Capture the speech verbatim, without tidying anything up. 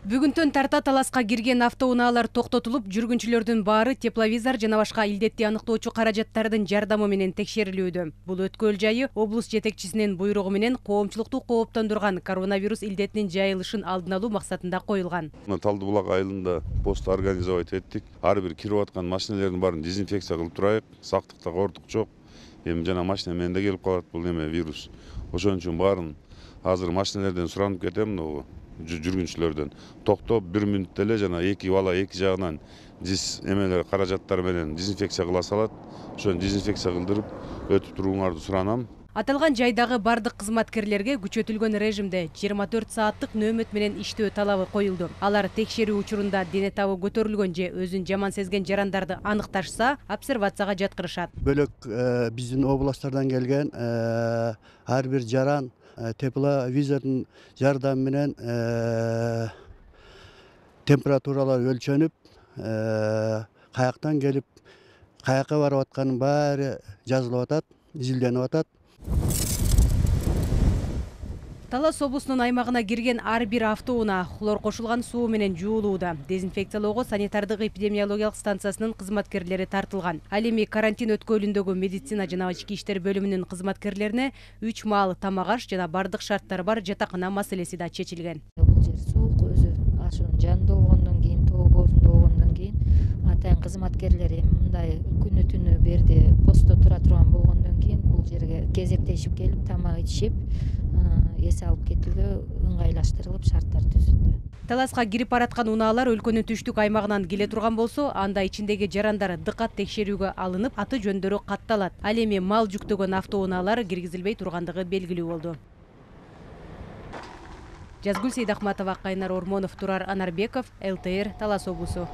Бүгүнтөн тарта таласка кирген автоунаалар токтотулуп, жүргүнчүлөрдүн баары тепловизор жана башка илдетти аныктоочу каражаттардын жардамы менен текшерилүүдө. Бул өткөл жайы облус жетекчисинин буйругу менен коомчулукту кооптондурган коронавирус илдетинин жайылышын алдын алуу максатында коюлган. Талды булак айылында пост организовать эттик. Ар бир кирип аткан машиналердин баарын дезинфекция кылып турайык. Сактыкта кортук жок. Эми жана машина менен да келип калат бул неме вирус. Ошон үчүн баарын азыр машиналерден суранып кетем, жүргүнчүлөрдөн токтоп бир мүнөттө эле жана эки бала эки жагынан диз эмелер каражаттар менен дезинфекция кыла салат. Ошону дезинфекция кылдырып өтүп туруңарды суранам. Аталган жайдагы бардык кызматкерлерге күчөтүлгөн режимде жыйырма төрт сааттык нөөмөт менен иштөө талабы коюлду. Алар текшерүү учурунда дене табы көтөрүлгөн же өзүн жаман сезген жарандарды аныкташса, обсервацияга жаткырышат. Бөлөк биздин областтардан келген ар бир жаран тепловизордун жардамы менен температуралар өлчөнүп, каяктан келип, каякка барып атканын баары жазылып атат, изилденип атат. Талас облусунун аймагына кирген ар бир автоунаа хлор кошулган суу менен жуулууда. Дезинфекциялоого санитардык эпидемиологиялык станциясынын кызматкерлери тартылган. Ал эми карантин өткөлүндөгү медицина жана ички иштер бөлүмүнүн кызматкерлерине үч маал тамак аш жана бардык шарттары бар жатакана маселеси да чечилген. Бул жер суук, өзү ашуунун жанында болгондон кийин, тоо боозунда болгондон кийин атайын кызматкерлери мындай күнү түнү берди постто тура турган болгондон кийин бул жерге кезектешип келип тамак ичишип, эс алып кетүүгө ыңгайлаштырылып шарттар түзүлдү. Таласка кирип бараткан унаалар өлкөнүн түштүк аймагынан келе турган болсо, анда ичиндеги жарандар дыкат текшерүүгө алынып, аты жөндөрү катталат. Ал эми мал жүктөгөн автоунаалар киргизилбей тургандыгы белгилүү болду. Жазгүл Сейдахматова, Кайнар Ормонов, Турар Анарбеков, эл тэ эр, Талас облусу.